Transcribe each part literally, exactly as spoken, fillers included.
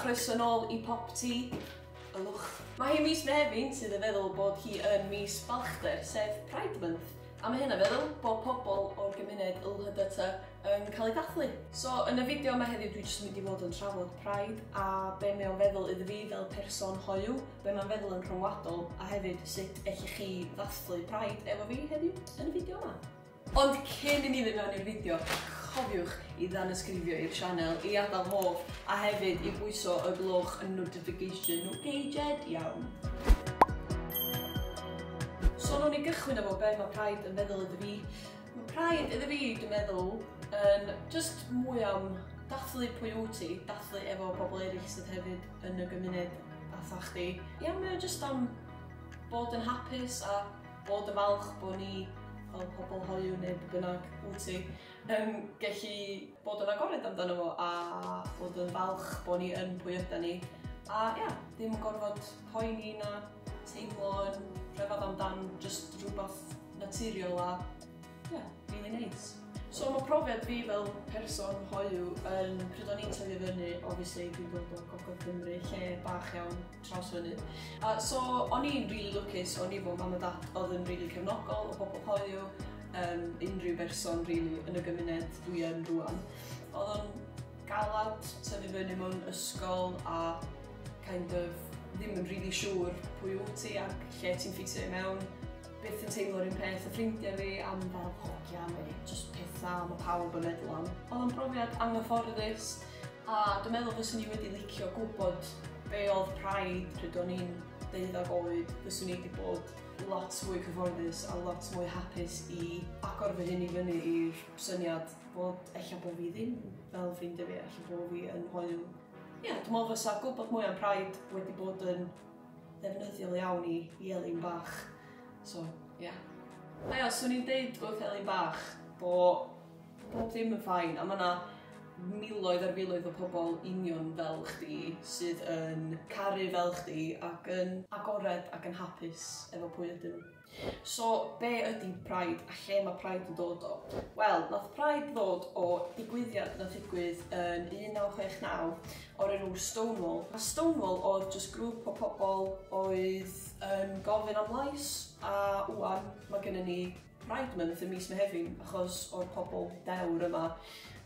Croeso nôl i Popty. Ylwch. Mae hi mis Mehefin, sydd yn feddwl bod hi yn mis balchder, sef Pride Month. A mae hynna'n feddwl bod pobl o'r gymuned L H B T yn cael ei dathlu. So, yn y fideo yma heddiw, dwi jyst yn mynd i fod yn trafod Pride a be mae o'n feddwl iddo fi fel person hoyw, be mae'n feddwl yn rhyngwladol, a hefyd sut ellwch chi ddathlu Pride efo fi heddiw yn y fideo yma. Ond cyn i ni fynd mewn i'r fideo, cofiwch i danysgrifio i'r sianel, i adael hoff, a hefyd i bwyso y gloch y notification. Okay, Jed? Iawn. So, nawn ni gychwyn efo be mae Pride yn feddwl iddo fi. Mae Pride iddo fi, dwi'n meddwl, yn just mwy am dathlu pwy wyt ti, dathlu efo pobl eraill sydd hefyd yn y gymuned fatha chdi. Ia, mae o just am bod yn hapus a bod yn falch bod ni fel pobl hoyw neu be bynnag wyt ti yn gallu bod yn agored amdano fo a bod yn falch bod ni yn pwy yda ni. A ia, ddim yn gorfod poeni na teimlo yn rhyfedd amdan just rhywbeth naturiol a ia, really nice. So mae profiad fi fel person hoyw yn pryd o'n i'n tyfu fyny, obviously dwi'n dod o Gogledd Cymru, lle bach iawn Trawsfynydd. Uh, so o'n i'n really lwcus, o'n i efo mam a dad oedd yn really cefnogol o bobl hoyw, um, unrhyw berson really yn y gymuned dwi yn rwan. Oedd o'n galad tyfu fyny mewn ysgol a kind of ddim yn really siŵr pwy wyt ti ac lle ti'n ffitio i mewn. Byth yn teimlo'r un peth y ffrindiau fi am fel hogia neu just pethau mae pawb yn meddwl am. Oedd o'n brofiad anghyfforddus a dwi'n meddwl fyswn i wedi licio gwybod be oedd Pride pryd o'n i'n deuddag oed, fyswn i wedi bod lot mwy cyfforddus a lot mwy hapus i agor fy hun i fyny i'r syniad bod ella bod fi ddim fel ffrindiau fi, ella bod fi yn hoyw. Ie, yeah, dwi'n meddwl fysa gwybod mwy am Pride wedi bod yn ddefnyddiol iawn i, i Elin bach. So, ie. Yeah. A ia, swn i'n deud wrth Elin bach bod bob dim yn fine, a mae yna miloedd ar filoedd o pobl union fel chdi sydd yn caru fel chdi ac yn agored ac yn hapus efo pwy ydyn nhw. So, be ydy Pride a lle mae Pride yn dod o? Wel, nath Pride ddod o digwyddiad nath ddigwydd yn un naw chwech naw o'r enw Stonewall. A Stonewall oedd just grŵp o pobl oedd yn gofyn am lais, a wwan mae gennym ni Pride Month ym mis Mehefin achos o'r pobl dewr yma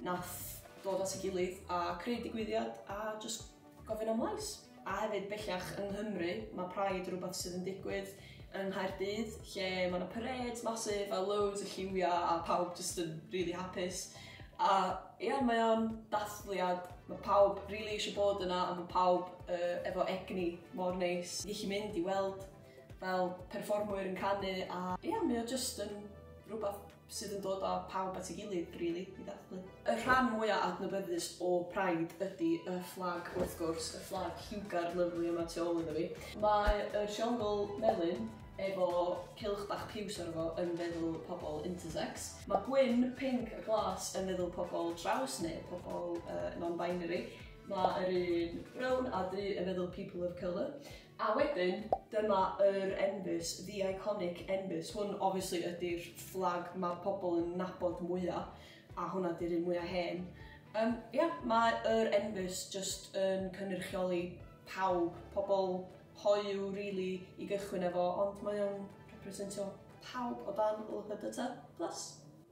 nath dod at ei gilydd a creu digwyddiad a just gofyn am lais. A hefyd bellach yng Nghymru mae Pride rhywbeth sydd yn digwydd yng Nghaerdydd, lle mae yna parades massive a loads o lliwiau a pawb just yn really hapus. A ia, mae o'n dathliad, mae pawb really eisiau bod yna a mae pawb uh, efo egni mor neis. Gallu mynd i weld fel perfformwyr yn canu a ia, mae o just yn rhywbeth sydd yn dod â pawb at ei gilydd, really, i ddathlu. Y rhan mwyaf adnabyddus o Pride ydy y fflag, wrth gwrs, y fflag lliwgar lyfli yma tu ôl iddo fi. Mae y triongl melyn efo cylch bach piws arno fo yn feddwl pobl intersex. Mae gwyn, pink a glas yn feddwl pobl traws neu pobl uh, non-binary. Mae yr un brown a du yn feddwl people of colour. A wedyn, dyma yr enfys, the iconic enfys. Hwn, obviously, ydy'r fflag mae pobl yn nabod mwyaf, a hwnna di'r un mwyaf hen. Um, yeah, mae yr enfys just yn cynrychioli pawb, pobl hoyw, really, i gychwyn efo, ond mae o'n representio pawb o dan L H B T plus.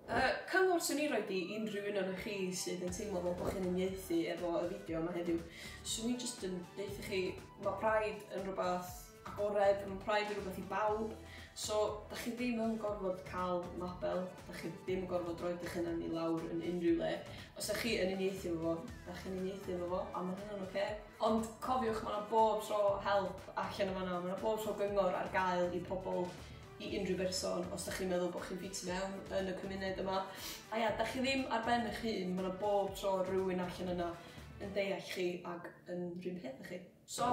Uh, cyngor swn i roed i unrhyw un o'n chi sydd yn teimlo fel bod chi'n uniaethu efo y fideo yma heddiw, swn i jyst yn deutha chi, mae Pride yn rhywbeth agored, mae Pride yn rhywbeth i bawb, so da chi ddim yn gorfod cael label, da chi ddim yn gorfod rhoi eich hunan i lawr yn unrhyw le. Os da chi yn uniaethu efo fo, da chi'n uniaethu efo fo, a mae hynna'n oce. Ond cofiwch, mae yna bob tro help allan o fanna, mae yna bob tro gyngor ar gael i pobl, i unrhyw berson os da chi'n meddwl bod chi'n ffitio mewn yn y cymuned yma. A ia, da chi ddim ar ben eich hun, mae yna bob tro rhywun allan yna yn deall chi ac yn rhywun peth â chi. So,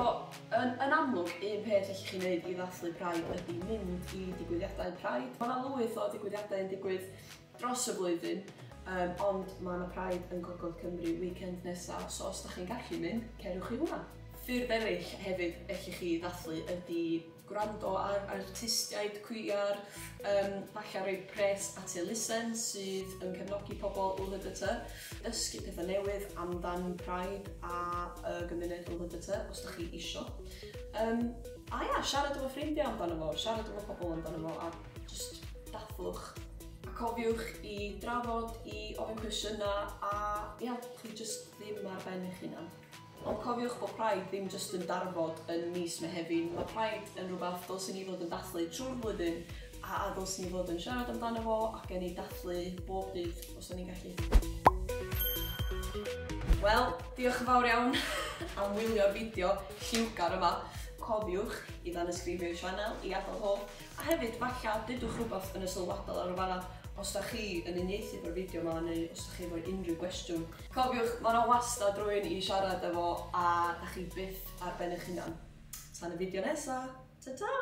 yn, yn amlwg, un peth allwch chi wneud i ddathlu Pride ydy mynd i digwyddiadau Pride. Mae yna lwyth o digwyddiadau yn digwydd dros y flwyddyn, um, ond mae yna Pride yn Gogledd Cymru weekend nesaf, so os da chi'n gallu mynd, cerwch i hwnna. Ffyrdd eraill hefyd allwch chi ddathlu ydy gwrando ar artistiaid cwiar, um, falle rhoi pres at elusen sydd yn cefnogi pobl L H B T, dysgu pethau newydd amdan Pride a y gymuned L H B T os da chi isio. Um, a ia, siarad efo ffrindiau amdano fo, siarad efo pobl amdano fo, a just dathlwch. A cofiwch i drafod, i ofyn cwestiynau, a ia, chi just ddim ar ben eich hunan. Ond cofiwch bod Pride ddim just yn darfod yn mis Mehefin, mae Pride yn rhywbeth dylswn ni fod yn dathlu trwy'r flwyddyn, a dylswn ni fod yn siarad amdano fo ac yn ei dathlu bob dydd os o'n i'n gallu. Wel, diolch yn fawr iawn am wylio'r fideo lliwgar yma. Cofiwch i danysgrifio i'r sianel, i adael hoff, a hefyd falle dudwch rhywbeth yn y sylwadol ar y fanna os da chi yn uniaethu efo'r fideo yma neu os da chi efo unrhyw gwestiwn. Cofiwch, mae yna wastad rhywun i siarad efo a da chi byth ar ben eich hunan. Tan y fideo nesa, ta-ta!